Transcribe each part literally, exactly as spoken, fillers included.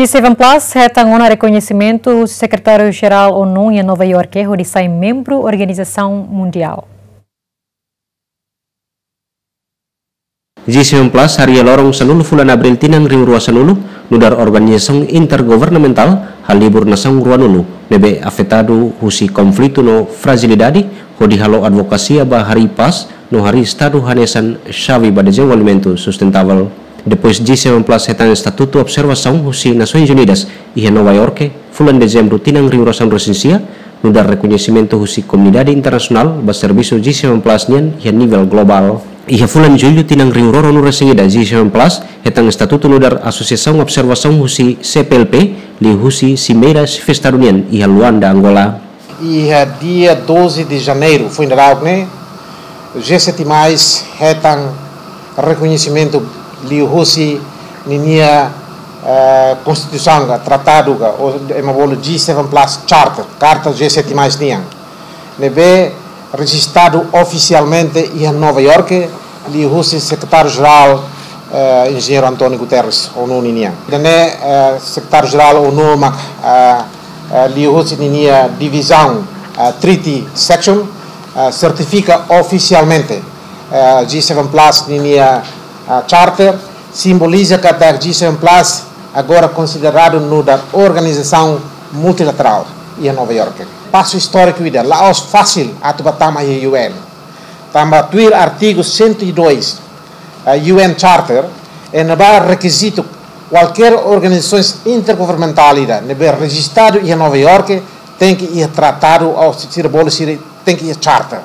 G seven Plus hetan ona rekoñesimentu husi Sekretáriu Jerál ONU iha Nova Iorke hodi sai membru organizasaun mundiál. G seven Plus harii iha loron sanulu fulan Abríl tinan rihun rua sanulu, nu'udar organizasaun intergovernamentál halibur nasaun ruanulu ne'ebé afetadu husi konflitu no frajilidade, hodi halo advokasia ba harii pás no harii estadu hanesan xave ba dezenvolvimentu sustentável. Depois G seven Plus hetan estatutu observasaun husi Nasoins Unidas iha Nova Iorke, fulan Dezembru tinan rihun rua sanulu resin sia, nu'udar rekoñesimentu husi komunidade internasionál ba servisu G seven Plus nian iha nivel globál. Iha fulan Jullu tinan rihun rua ruanulu resin ida, G seven Plus hetan estatutu nu'udar asosiasaun observasaun husi C P L P, liuhusi Simeira Xefe Estadu nian iha Luanda, Angola. Iha dia doze de Janeiro, foin dadauk ne'e, G sete mais hetan rekoñesimentu liuhusi ninia, eh, konstituisaun ka tratadu ka, ou ema bolu G seven Plus Charter, Karta G sete mais nian, ne'ebé rejistadu ofisialmente iha Nova Iorke, liuhusi Sekretáriu Jerál, eh, Enjeñeiru António Guterres, ONU ninian. Ida-ne'e, eh, Sekretáriu Jerál ONU mak, eh, eh, liuhusi ninia divizaun, eh, Treaty Section, eh, sertifika ofisialmente, eh, G seven Plus ninia, eh, charter, simboliza katak G seven Plus agora konsideradu nu'udar organizasaun multilaterál iha Nova Iorke. Pasu istóriku ida, la'ós fasil atu ba tama iha U N. Tanba tuir artigu cento e dois, eh, U N Charter, iha ne'ebá rekizitu kualkér organizasaun intergovernamentál ida ne'ebé rejistadu iha Nova Iorke tenke iha tratadu ou sira bolu sira tenke iha charter.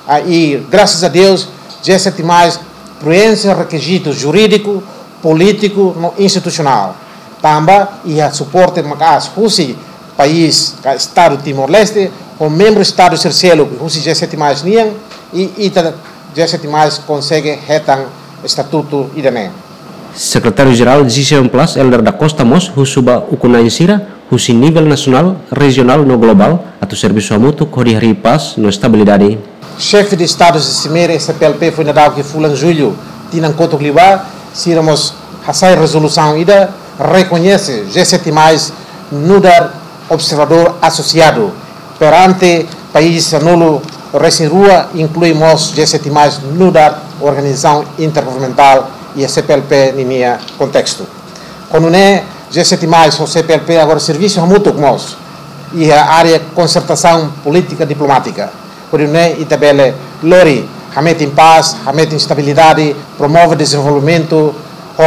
Ah, i grasas a Deus, G sete mais preenxe rekizitu jurídiku, polítiku no institusionál. Tanba iha suporte maka'as husi país ka Estadu Timor-Leste, ho membru Estadu sira seluk husi G sete mais nian, i ita G sete mais konsege hetan estatutu ida-ne'e. Sekretáriu Jerál G seven Plus, Helder da Costa mós husu ba ukun-na'in sira husi nivel nasionál, rejionál no globál atu servisu hamutuk hodi harii pás no estabilidade. Xefe de Estadu Simeira iha C P L P foin dadauk iha fulan Jullu tinan kotuk liubá, sira mós hasai rezolusaun ida rekoñese G sete mais nu'udar observadór asosiadu perante país sanulu resin rua, inklui mós G sete mais nu'udar organizasaun intergovernamentál iha C P L P ninia kontestu. Ho nune'e, G sete mais ho C P L P agora servisu hamutuk mós iha área konsertasaun polítika diplomátika. Hodi nune'e ita bele lori hametin pás, hametin estabilidade, promove dezenvolvimentu ho,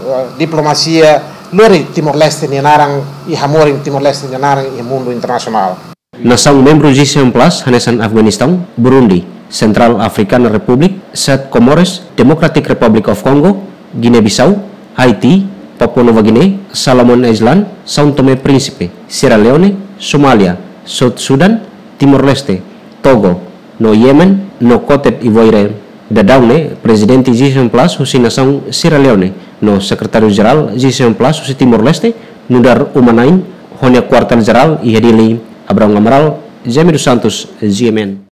eh, diplomasia, lori Timor-Leste nia naran i hamorin Timor-Leste nia naran iha mundu internasionál. Nasaun membru G seven plus hanesan Afeganistaun, Burundi, Central African Republic, Saint Comores, Democratic Republic of Congo, Guiné-Bissau, Haiti, Papua Nova Guiné, Solomon Island, São Tomé Príncipe, Sierra Leone, Somália, South Sudan, Timor-Leste, Togo, no Yemen, no Côte d'Ivoire. Daudaun ne'e, Prezidente G seven plus husi nasaun Sierra Leone, no Sekretáriu Jerál G seven plus husi Timor-Leste, nu'udar uma-na'in ho nia kuartél jerál iha Dili. Abraão Amaral, Jaime dos Santos, G M N.